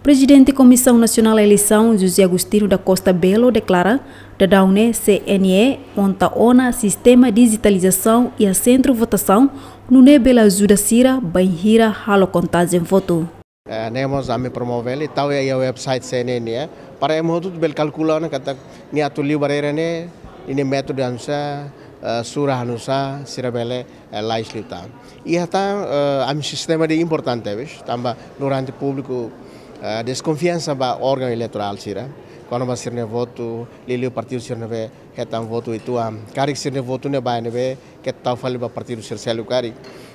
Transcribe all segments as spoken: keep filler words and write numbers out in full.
Prezidente Komisaun Nasionál Eleisaun, José Agostinho da Costa Belo, deklara, daudaun ne'e C N E monta ona sistema dijitalizasaun iha sentru votasaun, nune'e bele ajuda sira bainhira halo kontajen votu. Eh, ne'e mós ami promove hela, tau iha website C N E nian, para ema hotu bele kalkula ona katak nia atu liu barreira ne'e, nia métodu oinsá, eh, sura oinsá, sira bele, eh, lais liután. Iha tan, eh, ami sistema ida importante, bes, tanba durante públiku, eh, deskonfiansa ba órgaun eleitorál sira, kona-ba sira-nia votu, liuliu partidu sira ne'ebé hetan votu uitoan, karik sira-nia votu ne'e ba ne'ebé, keta tau fali ba partidu sira seluk karik.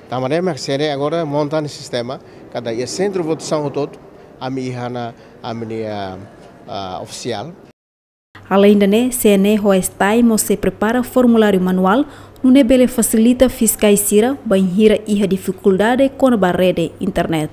Tanba ne'e mak C N E agora monta ona sistema, katak iha sentru votasaun hotu-hotu, ami iha ona ami-nia, ah, ofisiál. Aleinde ne'e, C N E ho STAE mós sei prepara formuláriu manuál, nune'e bele fasilita fiskais sira bainhira iha difikuldade kona-ba rede internet.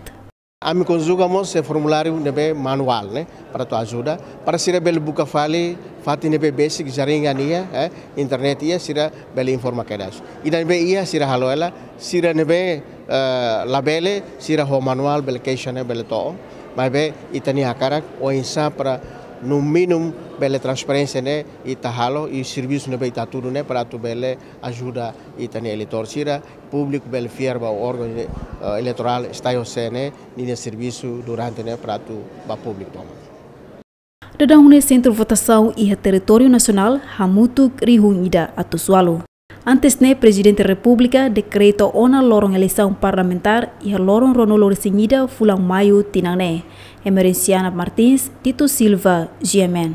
Ami konjuga mós, eh, formuláriu ne'ebé manuál, ne'e, para atu ajuda, para sira bele buka fali fatin ne'ebé besik jaringan iha, eh, internet iha, sira bele informa kedas. Ida ne'ebé iha, sira halo hela, sira ne'ebé, eh, labele, sira ho manuál bele keixa ne'e bele to'o. Maibé ita-nia hakarak oinsá para no mínimu bele transparénsia ne'e ita halo, i servisu ne'ebé ita hatudu ne'e para atu bele ajuda ita-nia eleitór sira, públiku bele fiar ba órgaun, eh, eleitorál STAE ho C N E ninia servisu durante ne'e para atu ba públiku tomak. Daudaun ne'e sentru votasaun iha territóriu nasionál hamutuk rihun ida atus ualu. Antes ne'e, Prezidente Repúblika dekreta ona loron eleisaun parlamentár iha loron ruanulu-resin-ida fulan Maiu tinan ne'e. Emerenciana Martins, Tito Silva, G M N.